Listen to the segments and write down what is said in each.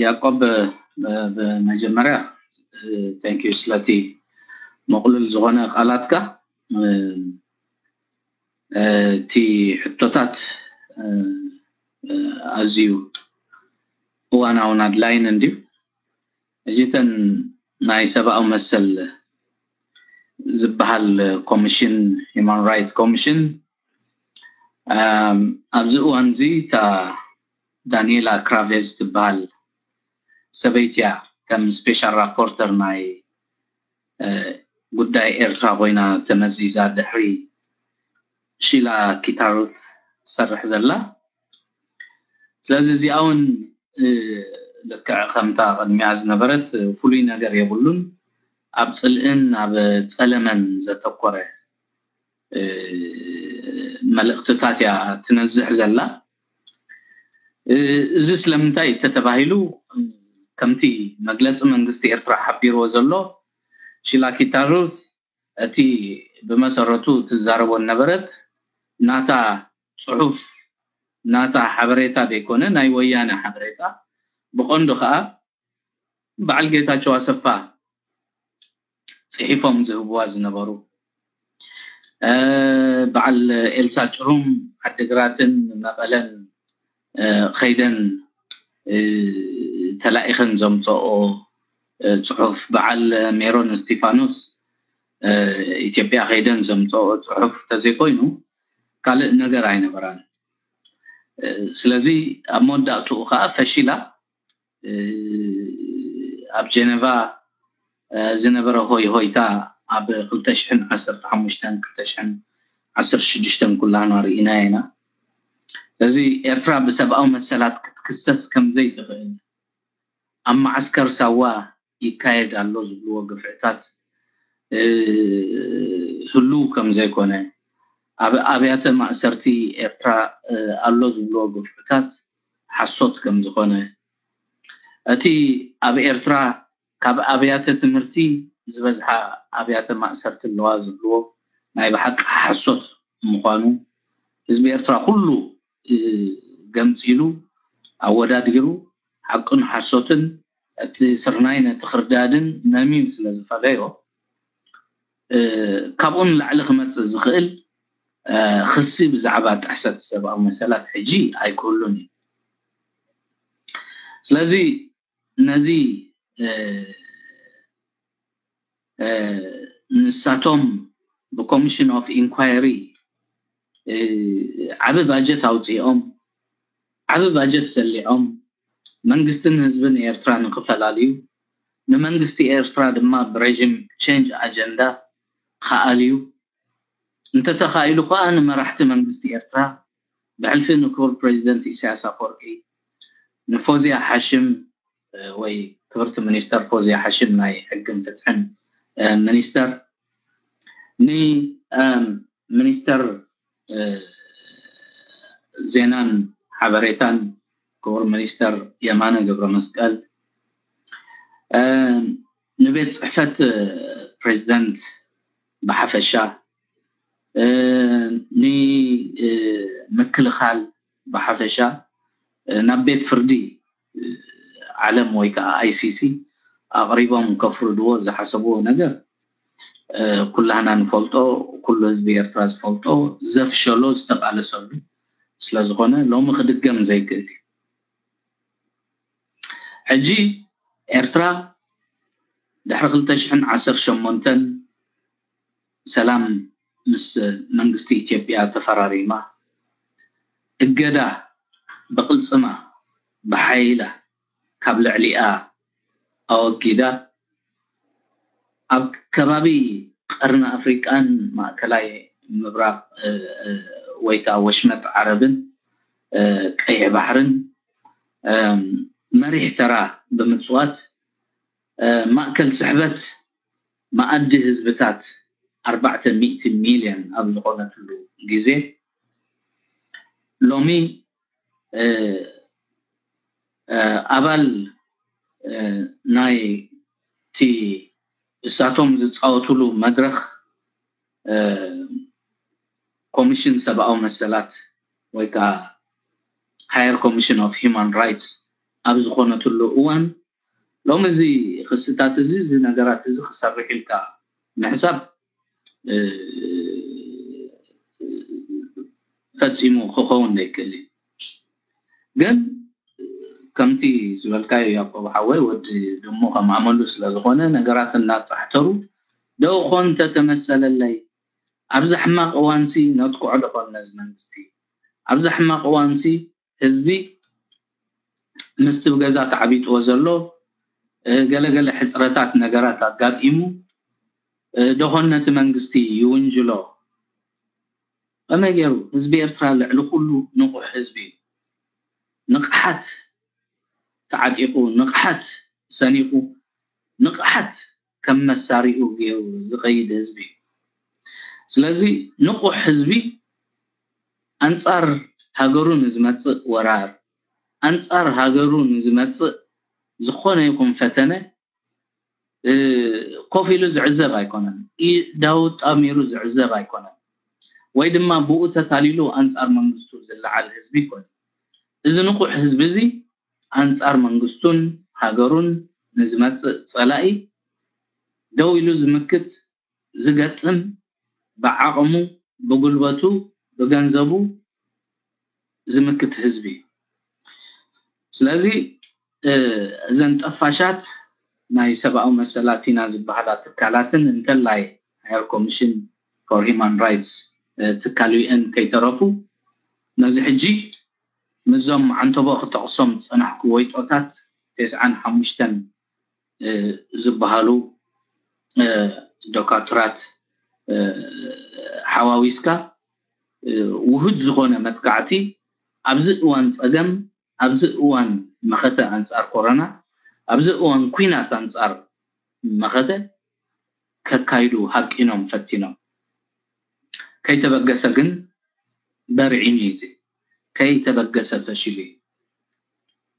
ያቆብ፣ ብመጀመርያ thank you ስለቲ መቕሉል ዝኾነ ቃላትካ። እቲ ሕቶታት ኣዝዩ እዋናውን ኣድላይን እንድዩ። እዚተን ናይ ሰብኣዊ መሰል ዝበሃል ኮሚሽን፣ ሂማን ራይት ኮሚሽን፣ ኣብዚ እዋን እዚ እታ ዳንኤላ ክራቬዝ ትበሃል ሰበይቲ እያ ከም ስፔሻል ራፖርተር ናይ ጉዳይ ኤርትራ ኮይና ተመዚዛ ድሕሪ ሺላ ኪታሩት ትሰርሕ ዘላ። ስለዚ እዚኣ እውን ልክዕ ከምታ ቅድሚያ ዝነበረት ፍሉይ ነገር የብሉን። ኣብ ፅልእን ኣብ ፀለመን ዘተኮረ መልእክትታት እያ ትነዝሕ ዘላ። እዚ ስለምንታይ ተተባሂሉ፣ ከምቲ መግለፂ መንግስቲ ኤርትራ ሓቢርዎ ዘሎ፣ ሺላ ኪታሩት እቲ ብመሰረቱ ትዛረቦ ነበረት ናታ ፅሑፍ፣ ናታ ሓበሬታ ዘይኮነ ናይ ወያነ ሓበሬታ፣ ብቐንዱ ከዓ በዓል ጌታቸው ኣሰፋ ፅሒፎም ዝህብዋ ዝነበሩ፣ በዓል ኤልሳ ጭሩም ዓድግራትን መቐለን ከይደን ተላኢኸን ዘምፀኦ ፅሑፍ፣ በዓል ሜሮን እስቲፋኖስ ኢትዮጵያ ከይደን ዘምፀኦ ፅሑፍ ተዘይኮይኑ ካልእ ነገር ኣይነበራን። ስለዚ ኣብ መወዳእትኡ ከዓ ፈሺላ። ኣብ ጀነቫ ዝነበረ ሆይ ሆይታ ኣብ ክልተ ሽሕን ዓሰርተ ሓሙሽተን ክልተ ሽሕን ዓሰርተ ሽዱሽተን ኩላህና ርኢናዮ ኢና። ስለዚ ኤርትራ ብሰብኣዊ መሰላት ክትክሰስ ከምዘይትኽእል፣ ኣብ ማዓስከር ሳዋ ይካየድ ኣሎ ዝብልዎ ግፍዕታት ህሉው ከምዘይኮነ፣ ኣብ ኣብያተ ማእሰርቲ ኤርትራ ኣሎ ዝብልዎ ግፍዕታት ሓሶት ከምዝኾነ፣ እቲ ኣብ ኤርትራ ካብ ኣብያተ ትምህርቲ ዝበዝሓ ኣብያተ ማእሰርቲ ኣለዋ ዝብልዎ ናይ ብሓቂ ሓሶት ምዃኑ ህዝቢ ኤርትራ ኩሉ ገምፂሉ ኣወዳዲሩ ሓቅን ሓሶትን እቲ ስርናይ ነቲ ክርዳድን መምዩ ስለ ዝፈለዮ፣ ካብኡ ንላዕሊ ክመፅእ ዝኽእል ክሲ ብዛዕባ ጥሕሰት ሰብኣዊ መሰላት ሕጂ ኣይክህሉን እዩ። ስለዚ ነዚ ንሳቶም ብኮሚሽን ኦፍ ኢንኳይሪ ዓቢ ባጀት ኣውፂኦም፣ ዓቢ ባጀት ሰሊዖም፣ መንግስትን ህዝብን ኤርትራ ንክፈላልዩ፣ ንመንግስቲ ኤርትራ ድማ ብሬጂም ቼንጅ ኣጀንዳ ክኣልዩ፣ እንተተኻኢሉ ከዓ ንመራሕቲ መንግስቲ ኤርትራ ብሕልፊ ንክቡር ፕሬዚደንት ኢሳያስ ኣፈወርቂ፣ ንፎዝያ ሓሽም ወይ ክብርቲ ሚኒስተር ፎዝያ ሓሽም ናይ ሕግን ፍትሕን ሚኒስተር፣ ንሚኒስተር ዜናን ሓበሬታን ክቡር ሚኒስተር የማነ ገብረ መስቀል፣ ንቤት ፅሕፈት ፕሬዚደንት ብሓፈሻ፣ ንምክልኻል ብሓፈሻ፣ ናብ ቤት ፍርዲ ዓለም ወይ ከዓ ኣይሲሲ ኣቕሪቦም ከፍርድዎ ዝሓሰብዎ ነገር ኩላህና ንፈልጦ፣ ኩሉ ህዝቢ ኤርትራ ዝፈልጦ፣ ዘፍሸሎ ዝተቃለሰሉ ስለዝኾነ ሎሚ ክድገም ዘይክእል እዩ። ሕጂ ኤርትራ ድሕሪ ክልተ ሽሕን ዓሰርተ ሸሞንተን ሰላም ምስ መንግስቲ ኢትዮጵያ ተፈራሪማ፣ እገዳ ብቕልጽማ ብሓይላ ካብ ልዕሊኣ ኣወጊዳ፣ ኣብ ከባቢ ቀርኒ ኣፍሪቃን ማእከላይ ምብራቕ ወይ ከዓ ወሽመጥ ዓረብን ቀይሕ ባሕርን መሪሕ ተራ ብምፅዋት፣ ማእከል ስሕበት መኣዲ ህዝብታት ኣርባዕተ ሚእቲ ሚልዮን ኣብ ዝኾነትሉ ግዜ፣ ሎሚ ኣባል ናይቲ እሳቶም ዝፃወትሉ መድረኽ ኮሚሽን ሰብኣዊ መሰላት ወይ ከዓ ሃየር ኮሚሽን ኦፍ ሂማን ራይትስ ኣብ ዝኾነትሉ እዋን ሎሚ እዚ ክስታት እዚ እዚ ነገራት እዚ ክሰርሕ ኢልካ ምሕሳብ ፈፂሙ ክኸውን ዘይክእል እዩ። ግን ከምቲ ዝበልካዮ ያቆብ ሓወይ ወዲ ድሙ ከም ኣመሉ ስለ ዝኾነ ነገራት እናፃሕተሩ ደው ኮን ተተመሰለለይ ኣብዚ ሕማቕ እዋንሲ ነጥቅዖ ዶ ኾን ነዚ መንግስቲ ኣብዚ ሕማቕ እዋንሲ ህዝቢ ምስቲ ብገዛ ተዓቢጥዎ ዘሎ ገለገለ ሕፅረታት ነገራት ኣጋጢሙ ዶ ኾን ነቲ መንግስቲ ይውንጅሎ። ከመይ ገይሩ ህዝቢ ኤርትራ ልዕሊ ኩሉ ንቑሕ ህዝቢ እዩ። ንቕሓት ተዓጢቑ ንቕሓት ሰኒቑ ንቕሓት ከም መሳሪኡ ገይሩ ዝኸይድ ህዝቢ እዩ። ስለዚ ንቑሕ ህዝቢ ኣንጻር ሃገሩ ንዝመጽእ ወራር ኣንጻር ሃገሩ ንዝመጽእ ዝኾነ ይኹን ፈተነ ኮፍ ኢሉ ዝዕዘብ ኣይኮነን። ኢዳው ጣሚሩ ዝዕዘብ ኣይኮነን። ወይ ድማ ብኡ ተታሊሉ ኣንጻር መንግስቱ ዝለዓል ህዝቢ ይኮነን። እዚ ንቑሕ ህዝቢ እዚ ኣንጻር መንግስቱን ሃገሩን ንዝመጽእ ጸላኢ ደው ኢሉ ዝምክት ዝገጥም ብዓቕሙ ብጉልበቱ ብገንዘቡ ዝምክት ህዝቢ እዩ። ስለዚ እዘን ጠፋሻት ናይ ሰብኣዊ መሰላት ኢና ዝበሃላ ትካላትን እንተላይ ሃየር ኮሚሽን ፎር ሂማን ራይትስ ትካል ዩኤን ከይተረፉ ነዚ ሕጂ ምዞም ዓንተቦ ክጠቕሶም ዝጸናሕኩ ወይጦታት ተስዓን ሓሙሽተን ዝበሃሉ ዶካትራት ሓዋዊስካ ውሁድ ዝኾነ መጥቃዕቲ ኣብዚ እዋን ፀገም ኣብዚ እዋን መኸተ ኣንፃር ኮሮና ኣብዚ እዋን ኩናት ኣንፃር መኸተ ከካይዱ ሃቂኖም ፈቲኖም። ከይተበገሰ ግን በርዒኑ እዩ። ከይተበገሰ ፈሽሉ እዩ።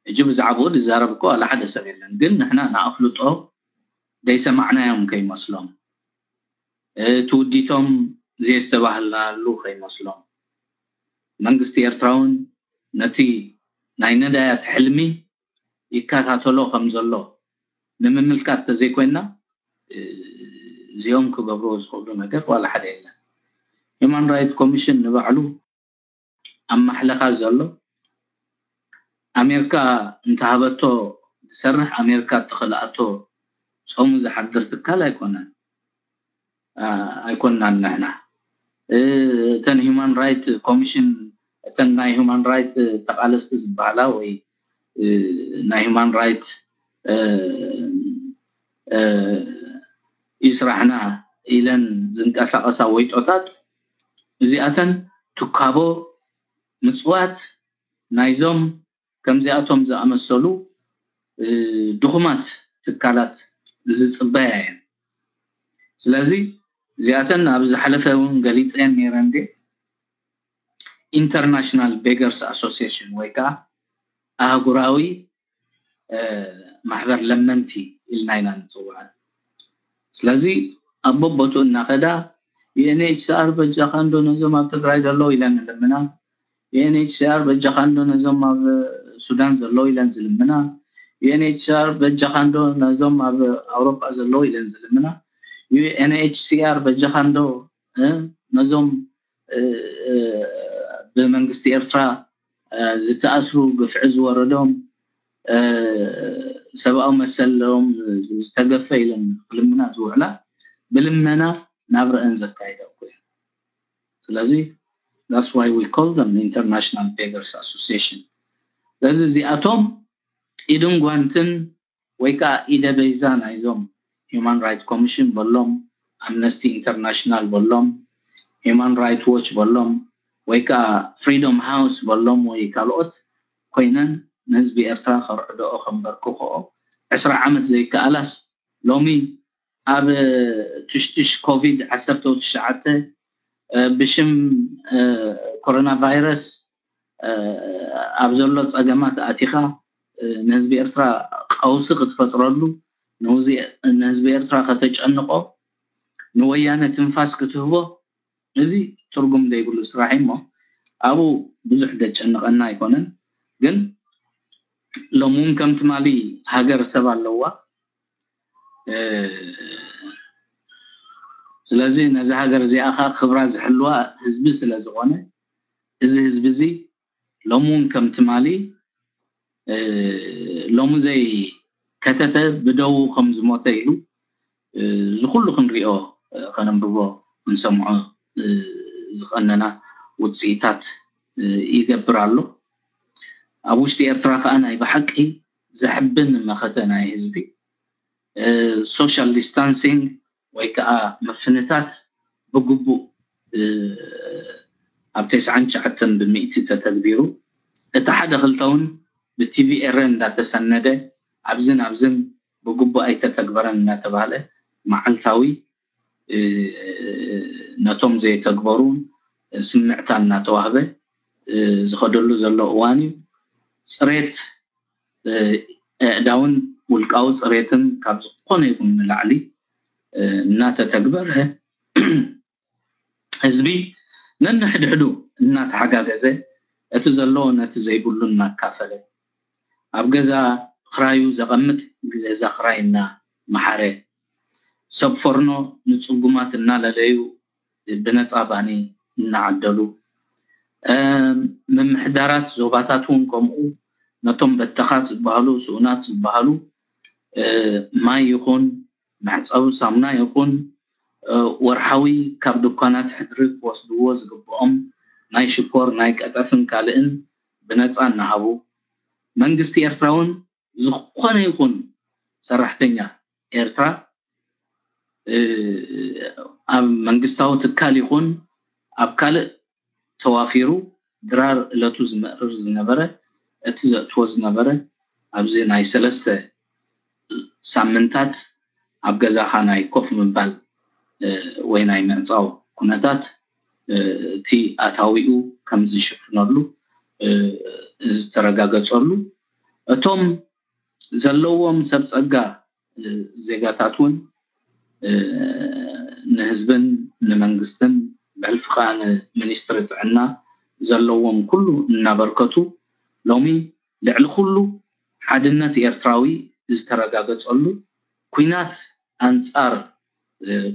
ሕጂ ብዛዕባኡ ዝዛረብ እኮ ዋላ ሓደ ሰብ የለን። ግን ንሕና ንኣፍልጦ ዘይሰማዕናዮም ከይመስሎም ትውዲቶም ዘየስተባህልናሉ ከይመስሎም መንግስቲ ኤርትራ እውን ነቲ ናይ ነዳያት ሕልሚ ይከታተሎ ከም ዘሎ ንምምልካት ተዘይኮይና እዚኦም ክገብርዎ ዝኽእሉ ነገር ዋላ ሓደ የለን። ሂማን ራይት ኮሚሽን ንባዕሉ ኣብ ማሕለኻ ዘሎ ኣሜሪካ እንተሃበቶ ዝሰርሕ ኣሜሪካ እተኸልኣቶ ጾሙ ዝሓድር ትካል ኣይኮነን ኣይኮንናን ንሕና እተን ሂማን ራይት ኮሚሽን እተን ናይ ሂማን ራይት ተቓለስቲ ዝበሃላ ወይ ናይ ሂማን ራይት ይስራሕና ኢለን ዝንቀሳቐሳ ወይጦታት እዚኣተን ትካቦ ምፅዋት ናይዞም ከምዚኣቶም ዝኣመሰሉ ድኹማት ትካላት ዝፅበያ እየን። ስለዚ እዚኣተን ኣብ ዝሓለፈ እውን ገሊፀን ነይረ እንዴ ኢንተርናሽናል ቤገርስ ኣሶሲሽን ወይ ከዓ ኣህጉራዊ ማሕበር ለመንቲ ኢልና ኢና ንፅውዐን። ስለዚ ኣብ በቦቱ እናኸዳ ዩኤንኤችሲኣር በጃኻ እንዶ ነዞም ኣብ ትግራይ ዘለዉ ኢለን ንልምና። ዩኤንኤችሲኣር በጃኻ እንዶ ነዞም ኣብ ሱዳን ዘለዉ ኢለን ዝልምና። ዩኤንኤችሲኣር በጃኻ እንዶ ነዞም ኣብ ኣውሮጳ ዘለዉ ኢለን ዝልምና። ዩኤንኤችሲኣር በጃኻ እንዶ ነዞም ብመንግስቲ ኤርትራ ዝተኣስሩ ግፍዒ ዝወረዶም ሰብኣዊ መሰሎም ዝተገፈ ኢለን ክልምና ዝውዕላ ብልመና ናብረአን ዘካይዳ እኮ እየን። ስለዚ that's why we call them international beggars association። ስለዚ እዚኣቶም ኢድን ጓንትን ወይ ከዓ ኢደ በይዛ ናይዞም ሂማን ራይት ኮሚሽን በሎም ኣምነስቲ ኢንተርናሽናል በሎም ሂማን ራይት ዎች በሎም ወይ ከዓ ፍሪዶም ሃውስ በሎም ወይ ካልኦት ኮይነን ንህዝቢ ኤርትራ ከርዕድኦ ከንበርክኽኦ ዕስራ ዓመት ዘይከኣላስ ሎሚ ኣብ ትሽትሽ ኮቪድ ዓሰርተ ትሽዓተ ብሽም ኮሮና ቫይረስ ኣብ ዘሎ ፀገማት ኣቲኻ ንህዝቢ ኤርትራ ቀውሲ ክትፈጥረሉ ንህዝቢ ኤርትራ ከተጨንቆ ንወያነ ትንፋስ ክትህቦ እዚ ትርጉም ዘይብሉ ስራሕ እሞ ኣብኡ ብዙሕ ዘጨንቀና ኣይኮነን። ግን ሎሚ እውን ከም ትማሊ ሃገር ሰብ ኣለዋ። ስለዚ ነዚ ሃገር እዚኣ ከዓ ክብራ ዝሕልዋ ህዝቢ ስለ ዝኾነ፣ እዚ ህዝቢ እዚ ሎሚ እውን ከም ትማሊ ሎሚ ዘይከተተ ብደዉ ከም ዝሞተ ኢሉ እዚ ኩሉ ክንሪኦ፣ ከነንብቦ፣ ክንሰምዖ ዝቐነና ውፅኢታት ይገብር ኣሎ። ኣብ ውሽጢ ኤርትራ ከዓ ናይ ብሓቂ ዘሕብን መኸተ ናይ ህዝቢ፣ ሶሻል ዲስታንሲንግ ወይ ከዓ ምፍንታት ብግቡእ ኣብ ተስዓን ትሽዓተን ብሚእቲ ተተግቢሩ፣ እቲ ሓደ ክልተ እውን ብቲቪ ኤረ እንዳተሰነደ ኣብዝን ኣብዝን ብግቡእ ኣይተተግበረን እናተባህለ መዓልታዊ ነቶም ዘይተግበሩ ስምዕታ እናተዋህበ ዝኸደሉ ዘሎ እዋን እዩ። ፅሬት ኣእዳውን ውልቃዊ ፅሬትን ካብ ዝኾነ ይኹን ንላዕሊ እናተተግበረ፣ ህዝቢ ነንሕድሕዱ እናተሓጋገዘ፣ እቲ ዘለዎ ነቲ ዘይብሉ እናካፈለ፣ ኣብ ገዛ ክራዩ ዘቐምጥ ገዛ ክራይ እናመሓረ፣ ሰብ ፎርኖ ንፅጉማት እናለለዩ ብነፃ ባኒ እናዓደሉ፣ ምምሕዳራት ዞባታት እውን ከምኡ ነቶም በተኻት ዝበሃሉ፣ ስኡናት ዝበሃሉ ማይ ይኹን መሕፀቢ ሳሙና ይኹን ወርሓዊ ካብ ድኳናት ሕድሪ ክወስድዎ ዝግብኦም ናይ ሽኮር፣ ናይ ቀጠፍን ካልእን ብነፃ እናሃቡ፣ መንግስቲ ኤርትራ እውን ዝኾነ ይኹን ሰራሕተኛ ኤርትራ ኣብ መንግስታዊ ትካል ይኹን ኣብ ካልእ ተዋፊሩ ድራር እለቱ ዝምእርር ዝነበረ፣ እቲ ዘእትዎ ዝነበረ ኣብዚ ናይ ሰለስተ ሳምንታት ኣብ ገዛኻ ናይ ኮፍ ምባል ወይ ናይ ምዕፃው ኩነታት እቲ ኣታዊኡ ከም ዝሽፍነሉ ዝተረጋገፀሉ፣ እቶም ዘለዎም ሰብ ፀጋ ዜጋታት እውን ንህዝብን ንመንግስትን ብሕልፊ ከዓ ንሚኒስትሪ ጥዕና ዘለዎም ኩሉ እናበርከቱ፣ ሎሚ ልዕሊ ኩሉ ሓድነት ኤርትራዊ ዝተረጋገፀሉ፣ ኲናት ኣንፃር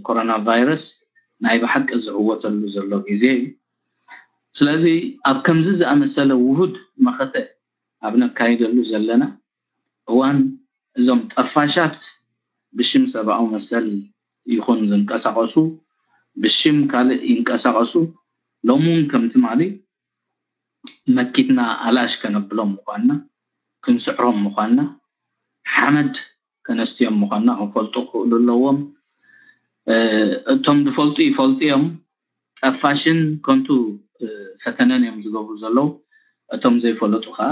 ኮሮና ቫይረስ ናይ ብሓቂ ዝዕወተሉ ዘሎ ግዜ እዩ። ስለዚ ኣብ ከምዚ ዝኣመሰለ ውሁድ መኸተ ኣብ ነካይደሉ ዘለና እዋን፣ እዞም ጠፋሻት ብሽም ሰብኣዊ መሰል ይኹን ዝንቀሳቐሱ፣ ብሽም ካልእ ይንቀሳቐሱ፣ ሎሚ እውን ከም ትማሊ መኪትና ኣላሽ ከነብሎም ምዃንና፣ ክንስዕሮም ምዃንና፣ ሓመድ ከነስትዮም ምዃንና ክፈልጡ ክኽእሉ ኣለዎም። እቶም ዝፈልጡ ይፈልጡ እዮም። ጠፋሽን ከንቱ ፈተነን እዮም ዝገብሩ ዘለዉ። እቶም ዘይፈለጡ ከዓ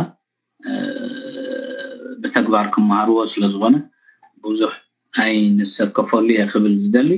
ብተግባር ክመሃርዎ ስለ ዝኾነ ብዙሕ ኣይንሰከፈሉ እየ ክብል ዝደሊ።